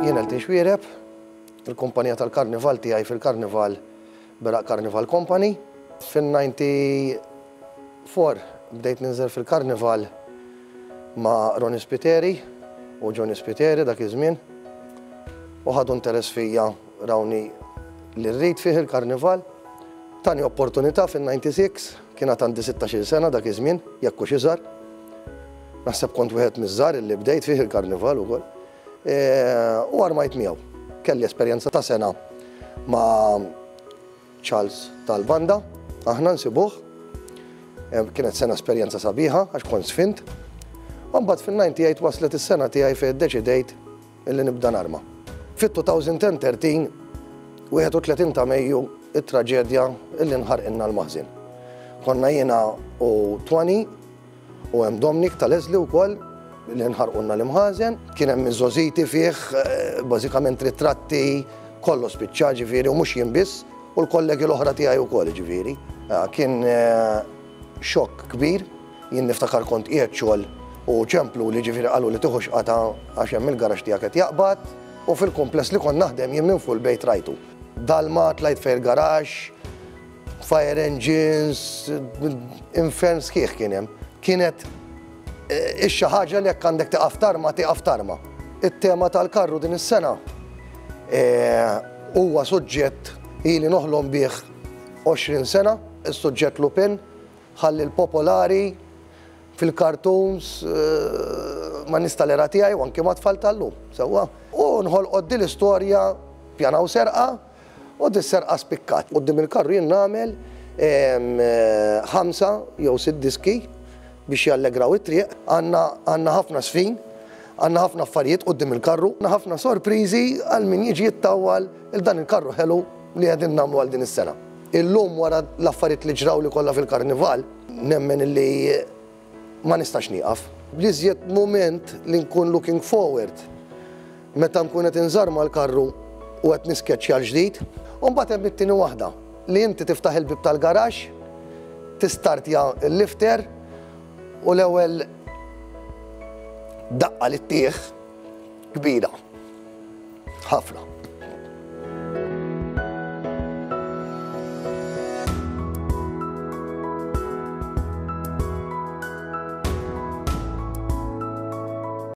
Jien Elton Xuereb, il-kumpanija tal-karnival tiegħi fil-karnival Beraq Carnival Company. Fin-94 bdejt ninżel fil-karnival ma' Ronnie Spiteri u Johnny Spiteri dak iż-żmien u ħadu interess fija rawni li rrid fih il-karnival. Tani opportunità fin-96, kien għad għandi sittax-il sena dak iż-żmien, jekk hux iżgħar. Naħseb kont wieħed miż-żgħar illi bdejt fih il-karnival ukoll. U armajt miegħu. Kelli esperjenza ta' sena ma' Charles tal-banda, aħna nsibuh. Kienet sena esperjenza sabiħa għax kont sfint. U mbagħad fin-98 waslet is-sena tiegħi fejn iddeċidejt illi nibda narma. Fit-2013, 31 ta' Mejju, it-traġedja illi nħarqilna l-maħżin. Konna jiena u Twani u hemm Dominic ta' Leslie wkoll li nħarqulna l-imħażen. Kien hemm iż-żożiti fih, bażikament ritratti, kollox spiċċa ġifieri u mhux jien biss, u l-kollegi l-oħra tiegħi wkoll ġifieri. Kien xokk kbir. Jien niftakar kont qiegħed xogħol u ċempluli ġifieri qaluli tiħux qatgħa għax hemm il-garaxx tiegħek qed jaqbad u fil-kumpless li kont naħdem jien minn fuq il-bejt rajtu. Dalma, tlajt fejn il-garaxx, fire engines, infern sħiħ kien hemm. Kienet ix-xi ħaġa li jekk għandek tieqaf tarma, tieqaf tarma. It-tema tal-karru din is-sena huwa suġġett ili noħlom bih 20 sena, is-suġġett Lupin. Ħalli l-popolari fil-cartoons ma' nies tal-era tiegħi u anki mat-tfal tal-lum, sewwa? U nħolqot din l-istorja pjanaw serqa u dis-serqa spikkat. Quddiem il-karru jien nagħmel ħamsa jew sitt diski biex jallegraw it-triq. Għandna għandna ħafna żfin, għandna ħafna affarijiet quddiem il-karru, għandna ħafna sorpriżi għal min jiġi jittawwal 'il dan il-karru ħelu li qegħdin nagħmlu għal din is-sena. Illum wara l-affarijiet li ġrawli kollha fil-karnival, nemmen illi ma nistax nieqaf. L-iżjed mument li nkun looking forward meta nkun qed inżarma l-karru u qed niskeċċja l-ġdid. U mbagħad hemm it-tieni waħda, li inti tiftaħ il-bieb tal-garaxx, tistartja l-lifter u l-ewwel daqqa li ttih kbira. Ħafna.